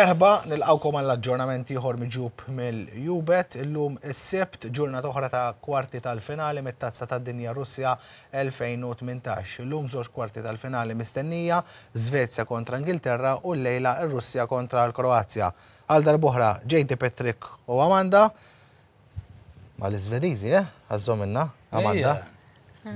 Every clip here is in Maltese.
Merħba, nilqgħukom għal aġġornament ieħor miġjub mill-UBET. Illum is-Sibt, ġurnata oħra ta' kwarti tal-finali mit-Tazza tad-Dinja Russja 2018. Illum żewġ kwarti tal-finali mistennija, Svezja kontra Ingilterra u llejla r-Russja kontra l-Kroazja. Għal darb'oħra JD Patrick u Amanda mal-Iżvediżi, eh? Għażżominna, Amanda.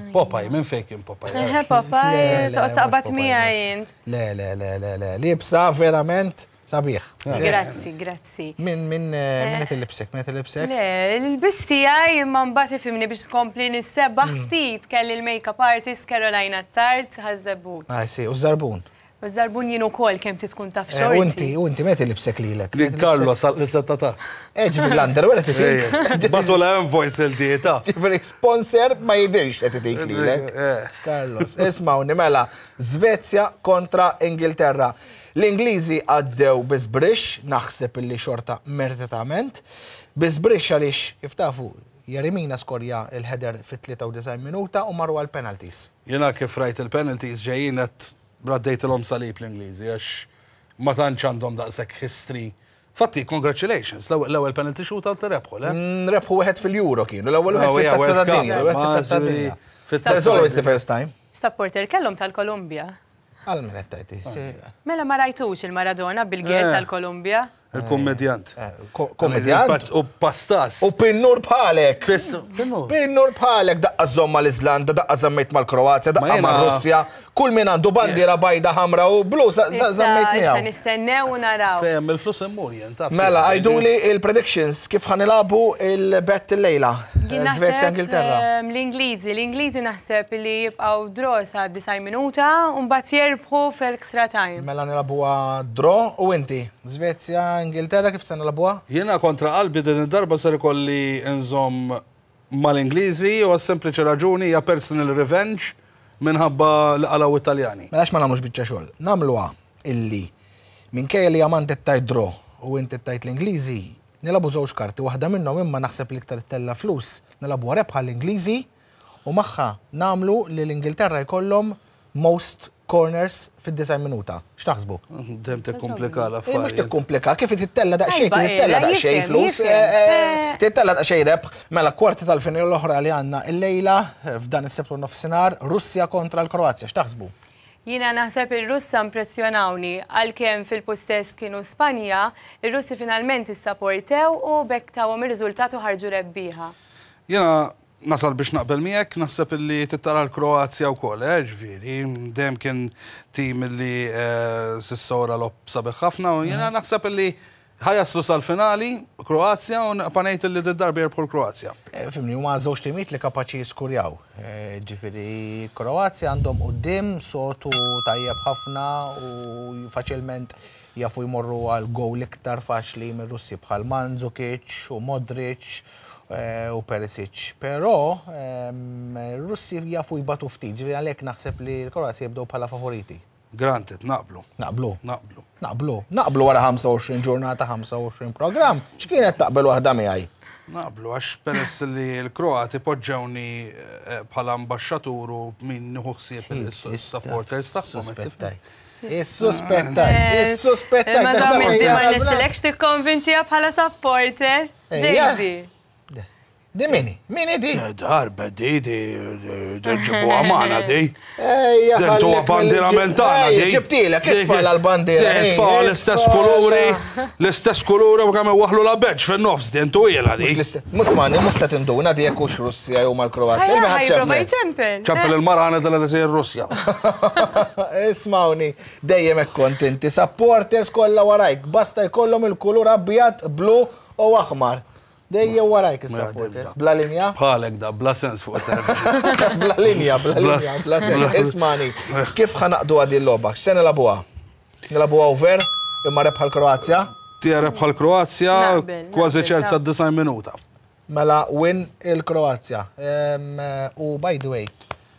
Popeye, minn fejn kien Popeye? Eħe, Popeye, toqgħod taqbad miegħi int. Le, le, le, le, le, libsa verament sabiħ. Grazzi, grazzi. Min, min, eh, min qed ilibsek, min qed ilibsek? Le, l-ilbis tiegħi imma mbagħad ifhimni biex tkompli nissebbaħ mm. ftit kelli l-makeup artist Carolina Tart ħażebut. Ah, si, u żarbun. U żarbun jien ukoll kemm tkun taf eh, xorti. U inti, u inti meta libsek lilek? Lil Carlos li setta taħt. Eh, ġifieri l-underwear qed itik. Batu la invoice il-dieta. Ġifieri sponsor ma jidirx qed itik lilek. Eh. Carlos, ismawni mela, Svezja kontra Ingilterra. L-Ingliżi għaddew bi żbrixx, naħseb illi xorta meritatament. Bi żbrixx għaliex, kif tafu, Yerry Mina skorja l-header fit-93 minuta u marru għall-penalties. Jiena kif rajt il-penalties ġejjin għedt raddejtilhom salib l-Ingliżi għax ma tantx għandhom daqshekk history. Fatti, congratulations, l-ewwel penalty shootout li rebħu, le? Rebħu wieħed fil-Euro kienu, l-ewwel wieħed fit-Tazza tad-Dinja, l-ewwel wieħed fit-Tazza tad-Dinja. There's always the first time. Supporter kellhom tal-Kolumbja. Għal min qed tgħid? Mela ma rajtux il-Maradona bil-gel tal-Kolumbja? Il-kummedjant. Kummedjant? U pastas. U pinnur bħalek. Pinnur bħalek daqqa żomm mal-Iżlanda, daqqa żammejt mal-Kroazja, daqqa mar-Russja. Kull min għandu bandiera bajda ħamra u blu żammejt miegħu. Issa nistennew u naraw. Fehem il-flus immur jien taf. Mela, għiduli il-predictions kif ħa nilagħbu il-bet illejla. Svezja Ingilterra. L-Ingliżi, l-Ingliżi naħseb li jibqgħu draw sa 90 minuta u mbagħad jerbħu fl-extra time. Mela nilagħbuha draw u inti? Svezja Ingilterra kif se nilagħbuha? Jiena kontra qalbi din id-darba ser ikolli nżomm mal-Ingliżi u għas-sempliċi raġuni hija personal revenge minħabba li qalgħu it-Taljani. Mela għax ma nagħmlux biċċa xogħol? Nagħmluha illi minkejja li Amanda qed tgħid draw u inti qed tgħid l-Ingliżi, nilagħbu żewġ karti, waħda minnhom imma naħseb li iktar ittella' flus, nilagħbuha rebħa l-Ingliżi u magħha nagħmlu li l-Ingilterra jkollhom most corners fid-90 minuta. X'taħsbu? Dejjem tikkumplika l-affarijiet. Mhux tikkumplika, kif tittella daqsxejn, tittella daqsxejn flus, tittella daqsxejn rebħ. Mela kwarti tal-finali l-oħra li għandna illejla f'dan is-Sibt u nofsinhar, Russja kontra l-Kroazja. X'taħsbu? Jiena naħseb ir-Russa impressjonawni, għalkemm fil-pussess kienu Spanja, ir-Russi finalment issaportew u b'hekk tawhom ir-riżultat u ħarġu rebbieħa. Jiena nasal biex naqbel miegħek, naħseb illi trid tara l-Kroazja wkoll, eh, ġifieri, dejjem kien tim illi s'issa wera logħob sabiħ ħafna u jiena naħseb illi ħa jaslu sal-finali Kroazja u nibqa' ngħid illi did-darba jirbħu l-Kroazja. Fimni, huma żewġ timijiet li kapaċi jiskurjaw. Ġifieri Kroazja għandhom quddiem sotu tajjeb ħafna u faċilment jafu jmorru għal gowl iktar faċli mir-Russi bħal Mandzukic u Modric u Perisic. Però r-Russi jafu jbatu ftit, ġifieri għalhekk naħseb li l-Kroazja jibdew bħala favoriti. Granted, naqblu. Naqblu? Naqblu. Naqblu. Naqblu wara 25 ġurnata, 25 programm. X'kienet taqbel waħda miegħi? Naqblu, għax peress li l-Kroati poġġewni bħala ambaxxatur u min nieħu ħsieb is-supporters tagħhom. Suspettajt. Is-suspettajt. Is-suspettajt. Ma dam inti ma rnexxilekx tikkonvinċiha bħala supporter. JD. Di mini? Mini di? Darba di, di, di ġibuha magħna di. Ejja. Dentu bandiera mentana di. Ġibtilek, itfal għal-bandiera. Itfal l-istess kuluri, l-istess kuluri u kemm waħlu la beġ fin-nofs din twila di. Musmani, mhux se tinduna di jekk hux Russja jew mal-Kroazja. Ċempel. Ċempel il-mara għana della li sejjer Russja. Ismawni, dejjem hekk kont inti, supporters kollha warajk, basta jkollhom il-kulur abjad, blu u aħmar. Dejjem warajk is-supporters. Bla linja? Bħalek da, bla sens fuq it-television. Bla linja, bla linja, bla sens. Ismani, kif ħa naqdu għadi l-logħba? X'se nilagħbuha? Nilagħbuha over, imma rebħa l-Kroazja? Tija rebħa l-Kroazja, kważi ċert sa 90 minuta. Mela win il-Kroazja. U by the way,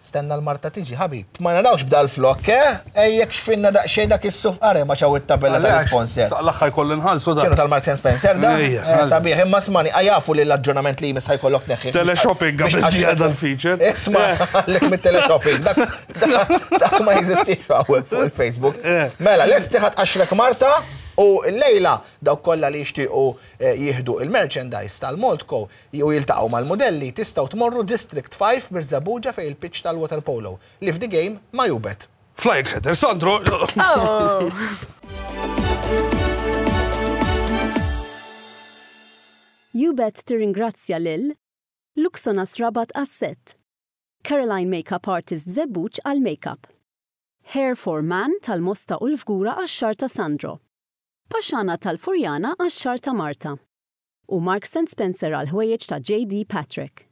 Stenna l-Marta tiġi, ħabib. Ma narawx b'dal flokk, eh? Ejjek xfinna daqsxejn dak is-suf qare ma ċaw it-tabella tal-isponsor. L-aħħar jkolli nħallsu dak. X'inhu tal-Marks and Spencer da? Eh, sabiħ, imma smani, jafu li l-aġġornament li jmiss ħajkollok neħħi. Teleshopping qabel ġie dal-feature. Isma, għalek mit-teleshopping. Dak ma jeżistix hawnhekk fuq il-Facebook. Eh. Mela, lesti ħadd qaxrek Marta. U llejla dawk kollha li jixtiequ jieħdu il-merchandise tal-Maltco u jiltaqgħu mal-mudelli tistgħu tmorru District 5 Birżebbuġa fejn il-pitch tal-waterpolo. Live the game ma' Ubet. Flying header, Sandro! Oh! Ubet tirringrazzja lil Luxonas Rabat għas-sett, Caroline Makeup Artist Żebbuġ għall-makeup. Hair for Man tal-Mosta u l-Fgura għax-xagħar ta' Sandro. Paxana tal-Furjana għax-xagħar ta' Marta. U Marks and Spencer għall-ħwejjeġ ta' JD Patrick.